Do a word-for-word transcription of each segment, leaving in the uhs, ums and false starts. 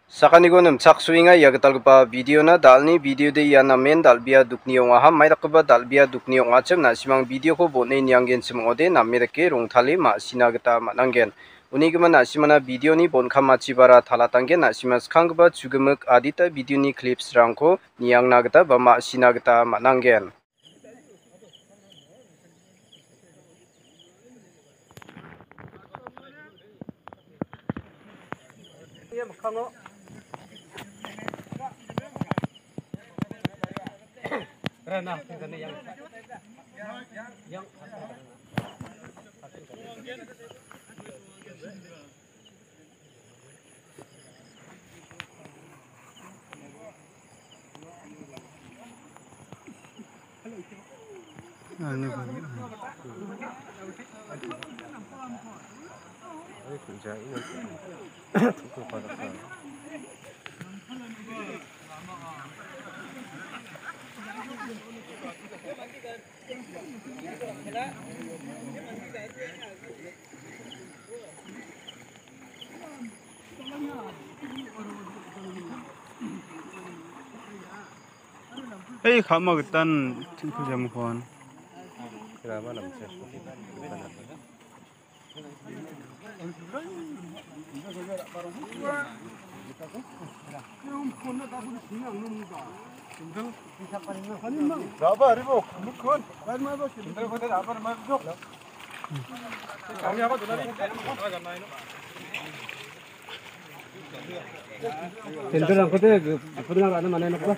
Sakaniko nimchaksoenga ia gitalgipa videona. Dalni videode ia namen dal·bea dukni ong·aha. Maidakgipa dal·bea dukni ong·achim, na·simang videoko bon·e nianggenchim ong·ode, name dake rongtale ma·sina gita man·angen. Unigimin na·simana videoni bon·kamachibara talatanggen, na·sima skanggipa chugimik adita videoni clipsrangko niangna gita ba ma·sina gita man·angen. Hei, kama gitan tingku jamukon. Tenderangko de, apa dengan anak mana anak apa?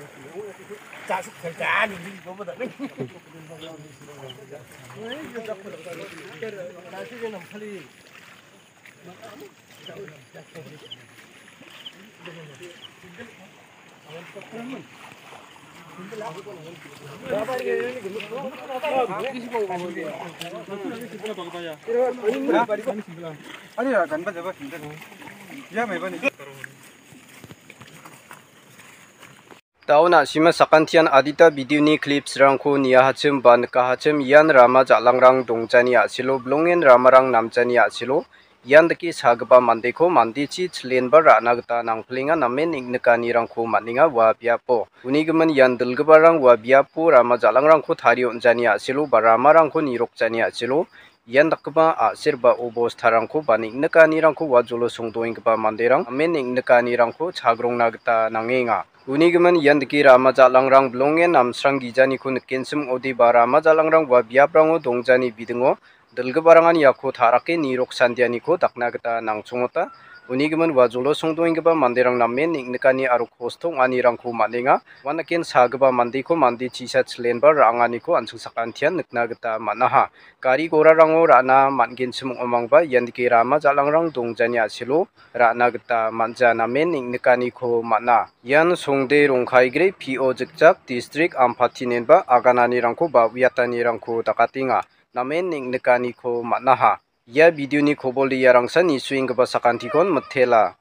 Daun a·sima sakantian adita videoni clipsrangko niahachim ba nikahachim, ian rama ja·langrang dongjani a·selo, bilongen ramarang namjani a·selo. Ian dake sagipa mandeko mandechi chilenba ra·na gita nangplenga, namen neng·nikanirangko man·enga ua biapo. Unigimin ian dilgiparang ua biapo rama ja·langrangko tarie on·jani a·selo ba ramarangko nirokjani a·selo, ian dakgipa a·ser ba obostarangko ba neng·nikanirangko ua jolo songdoenggipa manderang namen neng·nikanirangko chagrongna gita nangenga. Unigimin ian dake rama ja·langrang bilongen namsrang gijaniko nikenchim ong·ode ba rama ja·langrang ua biaprango dongjani bidingo dilgiparangan iako ta·rake nirok sandianiko dakna gita nangchongota. Unigimin ua jolo songdoenggipa manderang namen neng·nikani aro kosto ong·anirangko man·enga. Uanaken sagipa mandeko mande chisa chilenba ra·anganiko an·ching sakantian nikna gita man·aha. Gari gorarango ra·na man·genchim ong·omangba ian dake rama ja·langrang dongjani a·selo ra·na gita man·ja, namen neng·nikaniko man·a. Ian Songde Rongkaigre P O Jikjak, Distrik Ampati nenba agananirangko ba uiatanirangko dakatenga. Namen neng·nikaniko man·aha. Ia videoni kobol riarangsa nisuenggipa sakantikon mitela.